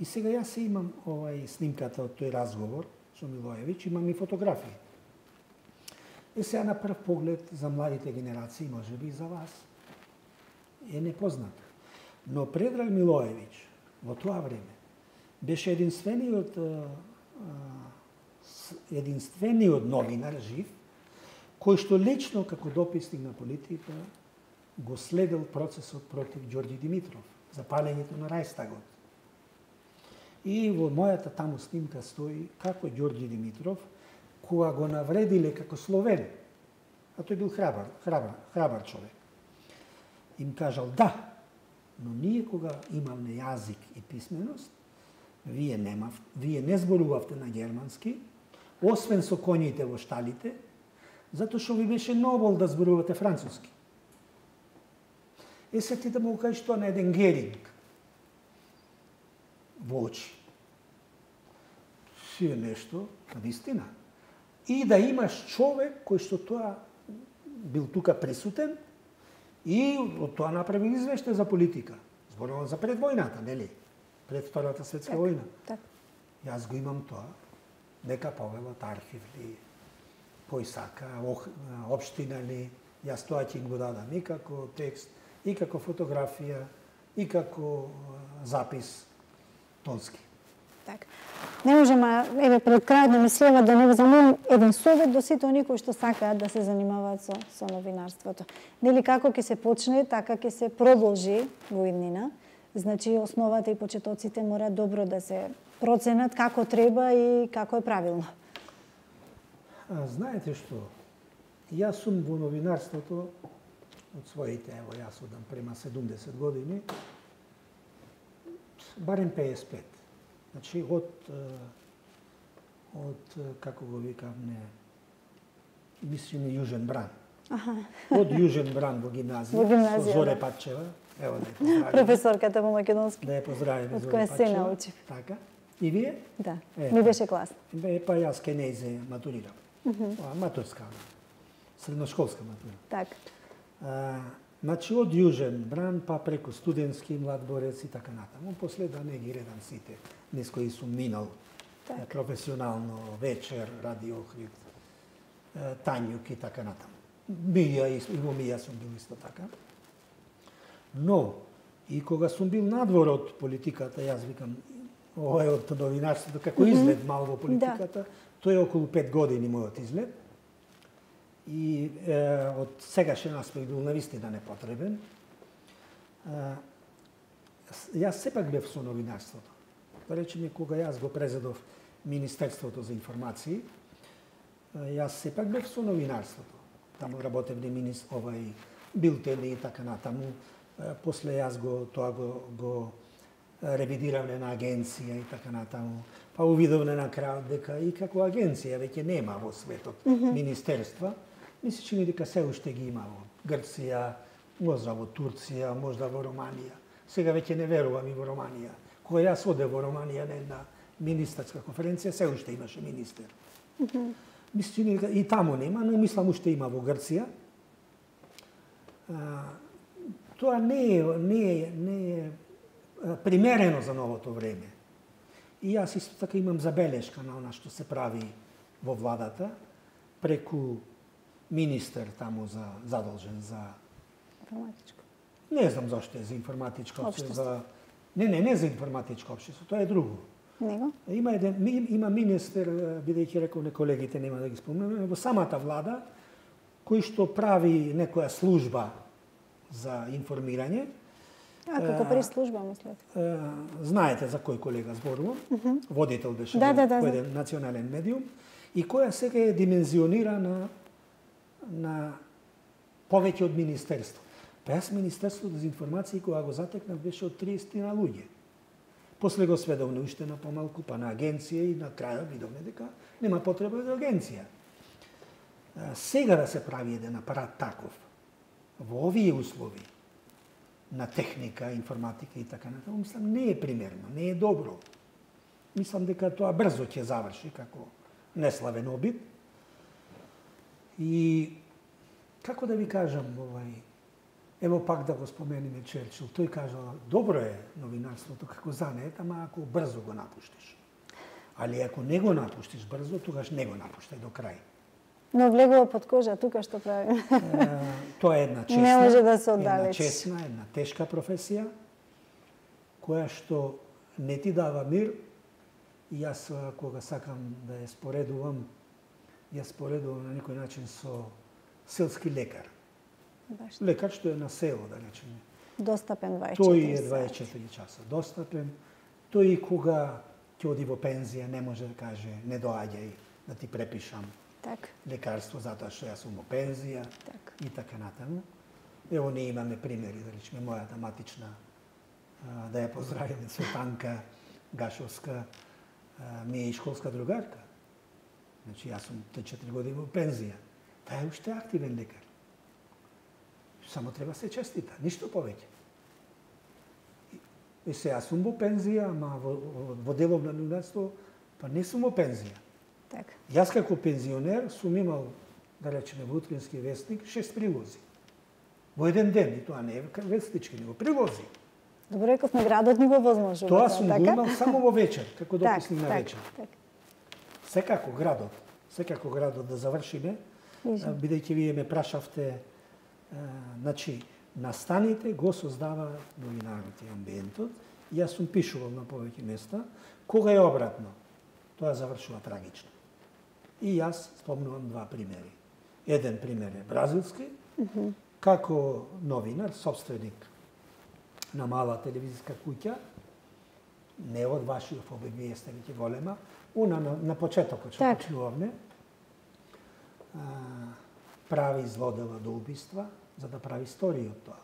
И сега јас се имам овај снимката од тој разговор со Милоевиќ, имам и фотографии. е сега на прв поглед за младите генерации, може би и за вас, е непозната. Но Предраг Милоевиќ во тоа време беше единствениот единствениот новинар жив кој што лично како дописник на политика го следел процесот против Ѓорѓи Димитров, запалењето на Рајстагот. И во мојата таму снимка стои како Ѓорѓи Димитров, кога го навредиле како Словен, а тој бил храбар, храбар, храбар човек, им кажал да, но ние кога имавме јазик и писменост, вие немав, вие не зборувавте на германски, освен со коњите во шталите, затоа што ви беше нобол да зборувате француски. Е, се ти да му кажеш тоа на еден Геринг во очи. Си е нешто, вистина. И да имаш човек кој што тоа бил тука присутен и од тоа направил извештај за политика. Зборувам за пред војната, нели? Пред Втората светска так, војна. Так. Јас го имам тоа. Нека повелот архив ли, кој сака, општина ли, јас тоа ќе го дадам и како текст, и како фотографија, и како запис тонски. Так. Не можеме, еве пред крајот на мислева да не замолам еден совет до сите оние кои што сакаат да се занимаваат со, со новинарството. Нели како ќе се почне, така ќе се продолжи во иднина. Значи основата и почетоците мора добро да се проценат како треба и како е правилно. А, знаете што? Јас сум во новинарството од своите, ево јас одам према седумдесет години, барем пеесет и пет. Значи, од, од, како го викавме, мислим Јужен Бран. Аха. Од Јужен Бран во гимназија, во гимназија со Зоре да. Патчева, ево да ја поздравиме. Професорката по македонски. Да ја поздравиме од Зоре која Патчева. се научив. Така. И вие? Да, е, ми беше класно. Е, па јас ке нејзе матурирам. Uh -huh. Матурска, средношколска матура. Така. Значи, од Јужен Бран, па преку студентски, Младборец и така натаму. После да не ги редам сите, низ кои сум минал так. професионално, Вечер, Радио Охрид, Тањук и така натаму. Мија и во Мија сум бил исто така. Но, и кога сум бил надвор од политиката, јас викам, ова е од новинарството, како изглед мал во политиката, да. Тој е околу пет години мојот изглед. И е, од сегашен аспект бил навистина непотребен. Е, јас сепак бев со новинарството. Да речеме, кога јас го презедов Министерството за информации, јас сепак бев со новинарството. Таму работевме минис, овај, билтени и така натаму. После јас го, тоа го, го ревидиравме на агенција и така натаму. Па увидовме на крајот дека и како агенција веќе нема во светот mm -hmm. министерства. Ми се чини дека се уште ги има во Грција, можда во Турција, можда во Романија. Сега веќе не верувам и во Романија. Кога јас оде во Романија на една министерска конференција, се уште имаше министер. Mm -hmm. Ми се чини дека и таму нема, но мислам уште има во Грција. А, тоа не е, не е, не е примерено за новото време. И јас исто така имам забелешка на она што се прави во владата, преку министер таму за задолжен за информатичко. Не знам зашто е за информатичко општество. За Не, не, не за информатичко општество, тоа е друго. Него? Има еден има министер, бидејќи рекол не колегите нема да ги спомнеме, во самата влада кој што прави некоја служба за информирање. А, како прес-служба, мислете? Знаете за кој колега зборувам? Uh -huh. Водител беше да, да, да, кој еден национален медиум и која сега е димензионира на на повеќе од министерство. Па јас Министерството за информации кога го затекнав беше од триесет на луѓе. После го сведовме уште на помалку, па на агенција и на крајот видовме дека нема потреба за агенција. Сега да се прави еден апарат таков, во овие услови, на техника, информатика и така натаму, мислам, не е примерно, не е добро. Мислам дека тоа брзо ќе заврши како неславен обид. И како да ви кажам, овај, ево пак да го спомениме Черчил, тој кажа, добро е новинарството како занет, ама ако брзо го напуштиш. Али ако не го напуштиш брзо, тогаш не го напуштај до крај. Но влегува под кожа, тука што правиме. Тоа е една честна, не може да се една оддалечи. честна, една тешка професија, која што не ти дава мир. И јас, кога сакам да ја споредувам, ја споредувам на некој начин со селски лекар. Баш. Лекар што е на село, да речеме. Достапен дваесет и четири Тој е дваесет и четири часа достапен. Тој и кога ќе оди во пензија не може да каже не доаѓај да ти препишам Так. лекарство затоа што јас сум во пензија Так. и така натаму. Ево ние имаме примери, да речеме мојата матична, да ја поздравиме, Светанка Гашовска, ми е и школска другарка. Значи јас сум три четири години во пензија. Таа е уште активен лекар. Само треба се честита, ништо повеќе. И се јас сум во пензија, ама во, во делов на новинарство, па не сум во пензија. Така. Јас како пензионер сум имал, да речеме, во Утрински вестник, шест прилози. Во еден ден, и тоа не е вестнички, него прилози. Добро, рековме градот ни го возможува. Тоа сум така? го имал само во вечер, како дописник на так, вечер. Так. Секако градот, секако градот да завршиме, бидејќи вие ме прашавте, а, значи, настаните го создава новинарот и амбиентот, и јас сум пишувал на повеќе места, кога е обратно, тоа завршува трагично. И јас спомнувам два примери. Еден пример е бразилски, mm -hmm. како новинар, собственик на мала телевизиска куќа, не од Вашиов обе, вие сте веќе голема, она на, на почетокот што так. почнувавме, а, прави злодела до убиства, за да прави историја од тоа.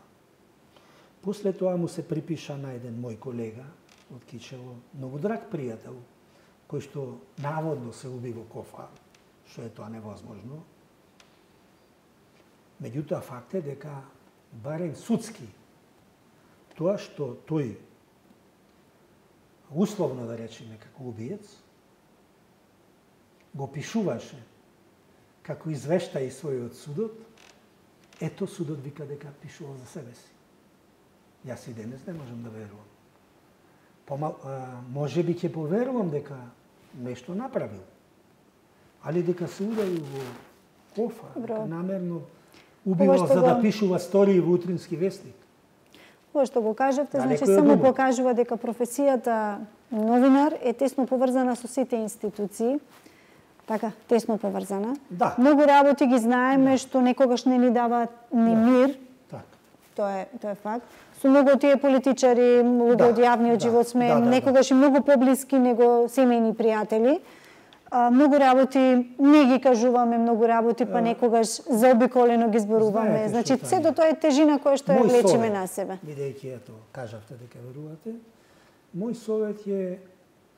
После тоа му се припиша на еден мој колега од Кичево, многу драг пријател, кој што наводно се уби во кофа, што е тоа невозможно. Меѓутоа, факт е дека барем судски тоа што тој условно да речеме како убиец го пишуваше како извештај својот судот, ето судот вика дека пишувал за себе си. Јас и денес не можам да верувам. Помал, а, може би ќе поверувам дека нешто направил, али дека се удари во кофа, дека намерно убива за да го... пишува стории во Утрински вестник. Ова што го кажавте, да, значи само друго покажува дека професијата новинар е тесно поврзана со сите институции. Така, тесно поврзана. Да. Многу работи ги знаеме да. Што некогаш не ни дава ни да. Мир. Так. Тоа е, тоа е факт. Со многу тие политичари, луѓе да. Од јавниот да. Живот сме да, да, некогаш да. И многу поблиски него семејни пријатели. А, многу работи не ги кажуваме, многу работи па некогаш заобиколено ги зборуваме. Знаете значи сето тоа е тежина која што ја влечиме на себе. Бидејќи ето кажавте дека верувате, мој совет е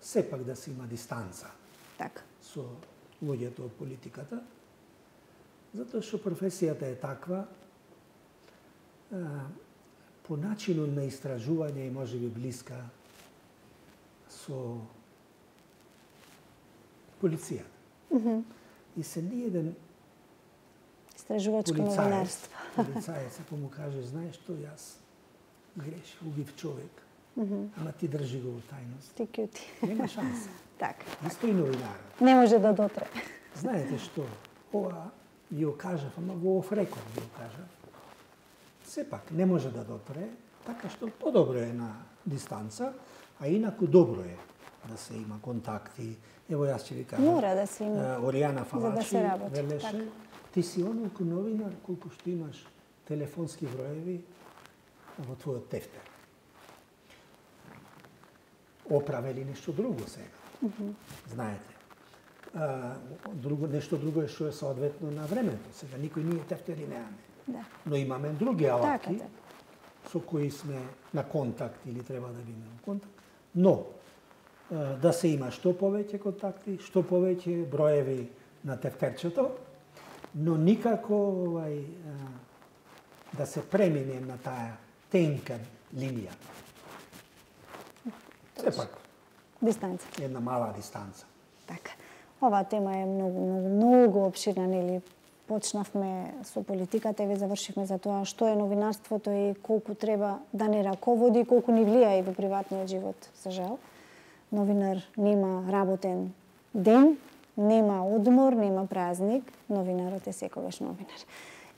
сепак да се има дистанца. Така. Со луѓето од политиката, затоа што професијата е таква, а, по начинот на истражување и можеби блиска со полицијата. Mm -hmm. И се ни еден истражувачко новинарство. Полицаец, ако му каже, знаеш што, јас грешив, убив човек, mm -hmm. ама ти држи го во тајност. Ти кјути. Нема шанса. Така. Исто и новинарот. Не може да дотре. Знаете што, ова ви го кажав, ама во офрекот ви го кажав. Сепак не може да дотре, така што подобро е на дистанца, а инаку добро е да се има контакти. Ево јас ќе ви кажам. Мора да се има. Оријана Фалачи за да велеше, така. Ти си оној новинар колку што имаш телефонски броеви во твојот тефтер. Оправили нешто друго сега. Mm -hmm. Знаете. А, друго, нешто друго е што е соодветно на времето. Сега никој ние тефтери немаме. Да. Но имаме други алатки така, така. со кои сме на контакт или треба да бидеме на контакт. Но а, да се има што повеќе контакти, што повеќе броеви на тефтерчето, но никако овај, а, да се премине на таа тенка линија. Сепак. Дистанца. Една мала дистанца. Така. Оваа тема е многу, многу, многу обширна, нели? Почнавме со политиката и ве завршивме за тоа што е новинарството и колку треба да не раководи, колку ни влијае и во приватниот живот, за жал. Новинар нема работен ден, Нема одмор, нема празник, новинарот е секогаш новинар.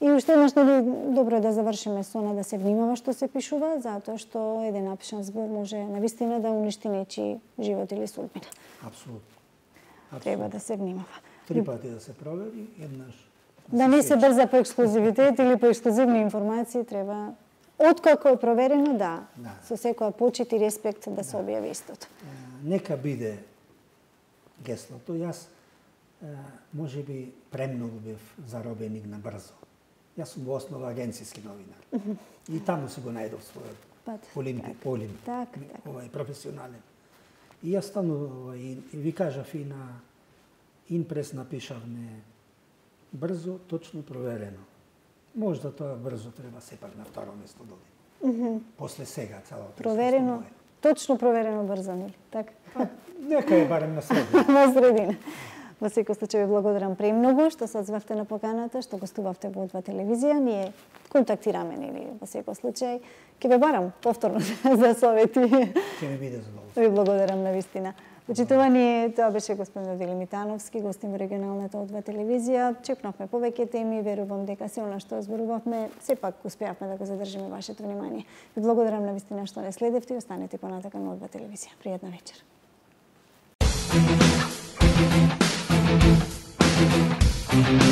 И уште еднаш, нели, добро е да завршиме со она да се внимава што се пишува, затоа што еден напишан збор може навистина да уништи нечи живот или судбина. Апсолутно. Треба да се внимава. Три пати да се провери, еднаш да не се брза по ексклузивитет или по ексклузивни информации, треба откако е проверено, да, да. Со секоја почит и респект да, да се објави истото. Нека биде геслото. Јас може би премногу бев заробеник на брзо. Јас сум во основа агенцијски новинар. Mm -hmm. И таму си го најдов својот Пат, полим, так, полим, так, так. Овај професионален. И јас стану, и, и ви кажав и на Инпрес напишавме брзо, точно проверено. Можда тоа брзо треба сепак на второ место дојде. Mm -hmm. После сега целото. Проверено, точно проверено брзо, нели? Така. Нека е барем на средина. На средина. Во секој случај ви благодарам премногу што се одзвавте на поканата, што гостувавте во О два телевизија. Ние контактираме, нели, во секој случај. Ќе ве барам повторно за совети. Ќе ми биде задоволство. Ви благодарам на вистина. Почитувани, тоа беше господин Одиле Митановски, гостин во регионалната О два телевизија. Чекнавме повеќе теми, верувам дека се она што зборувавме, сепак успеавме да го задржиме вашето внимание. Ви благодарам на вистина што не следевте и останете понатака на О два телевизија. Пријатна вечер. Thank you.